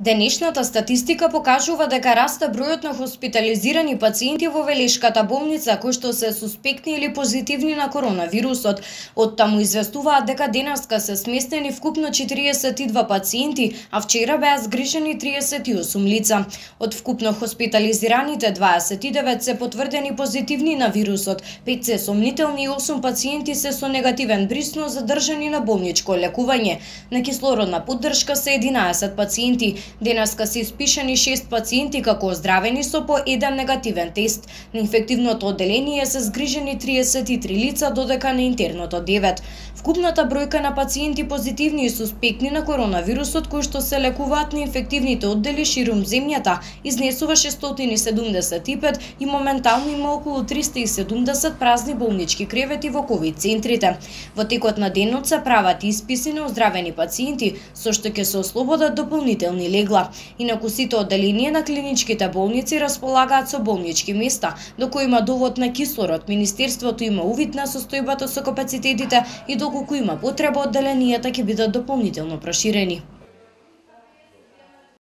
Денешната статистика покажува дека расте бројот на хоспитализирани пациенти во Велешката болница кои што се суспектни или позитивни на коронавирусот. Оттаму известуваат дека денеска се сместени вкупно 42 пациенти, а вчера беа згрижени 38 лица. Од вкупно хоспитализираните 29 се потврдени позитивни на вирусот, 5 се сомнителни и 8 пациенти се со негативен бриз, но задржани на болничко лекување. На кислородна поддршка се 11 пациенти. Денеска се испишани 6 пациенти како оздравени со по еден негативен тест. На инфективното одделение се згрижени 33 лица, додека на интерното 9. Вкупната бројка на пациенти позитивни и суспектни на коронавирусот кои што се лекуваат на инфективните оддели ширум земјата изнесува 675 и моментално има околу 370 празни болнички кревети во ковид центрите. Во текот на денот се прават исписи на оздравени пациенти, со што ќе се ослободат дополнителни легла. Инаку сите одделенија на клиничките болници располагаат со болнички места, до кои има довод на кислород. Министерството има увид на состојбата со капацитетите и доколку има потреба, одделенијата ќе бидат дополнително проширени.